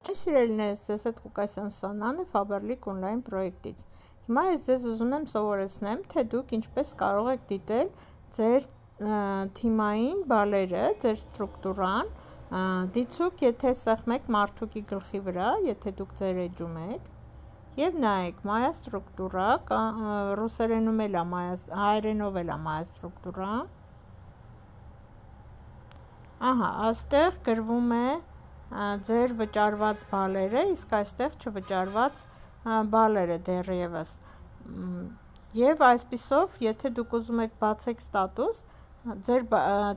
Սիրելիներս, ձեզ հետ Ղուկասյան Սաննան է Faberlic Online պրոյեկտից։ Հիմա ես ձեզ ուզում եմ սովորեցնեմ, թե դուք ինչպես կարող եք դիտել ձեր թիմային բալերը, ձեր ստրուկտուրան, դիցուք, եթե սեղմեք մարդուկի գլխի վրա, եթե դուք ձեր էջում եք, և նայեք մայա ստրուկտուրա, ռուսերենում էլ է, հայերենով էլ է մայա ստրուկտուրա, աստեղ գրվում է ձեր վճարված բալերը, իսկ այստեղ չվճարված բալերը դեռևս, և այսպիսով, եթե դուք ուզում եք բացեք ստատուս, ձեր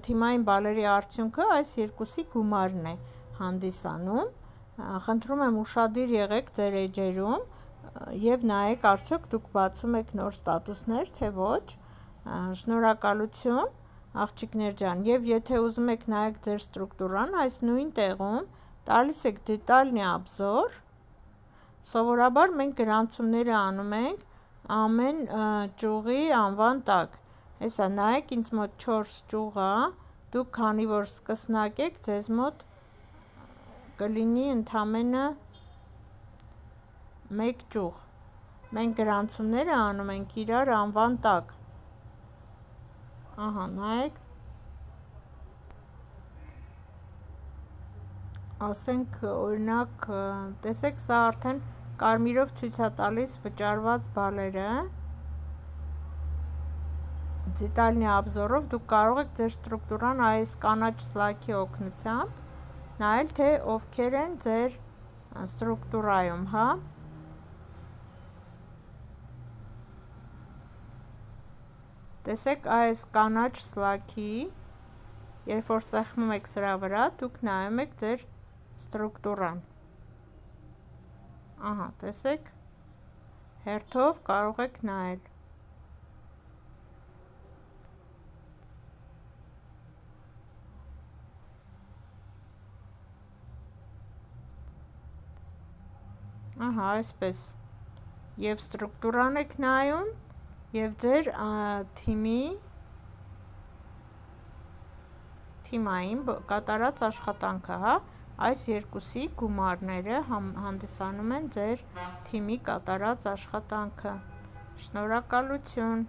թիմային բալերի արդյունքը այս երկուսի գումարն է հանդիսանում, խնդրում եմ ուշադիր եղեք ձեր էջերում և նայեք արդյոք դուք բացում եք նոր ստատուսներ, թե ոչ, շնորհակալություն աղջիկներ ջան, և եթե ուզում եք նայեք ձեր ստրուկտուրան, այս նույն տեղում տալիս եք դետալնի обзор, սովորաբար մենք գրանցումները անում ենք ամեն ճյուղի անվան տակ, հեսա նայեք ինձ մոտ 4 ճյուղ է, դուք քանի որ սկսնակ եք, ձեզ մոտ կլինի ընդամենը 1 ճյուղ, մենք գրանցումները անում ենք իրար անվան տակ, նայեք, ասենք օրինակ, տեսեք սա արդեն կարմիրով ցույց է տալիս վճարված բալերը, դետալնի обзорով դուք կարող եք ձեր ստրուկտուրան այս կանաչ սլաքի օգնությամբ նայել, թե ովքեր են ձեր ստրուկտուրայում, տեսեք այս կանաչ սլաքի, երբ որ սեղմում եք սրա վրա, դուք նայում եք ձեր ստրուկտուրան, տեսեք, հերթով կարող եք նայել, այսպես, և ստրուկտուրան եք նայում, և ձեր թիմային կատարած աշխատանքը, այս երկուսի գումարները հանդիսանում են ձեր թիմի կատարած աշխատանքը, շնորհակալություն։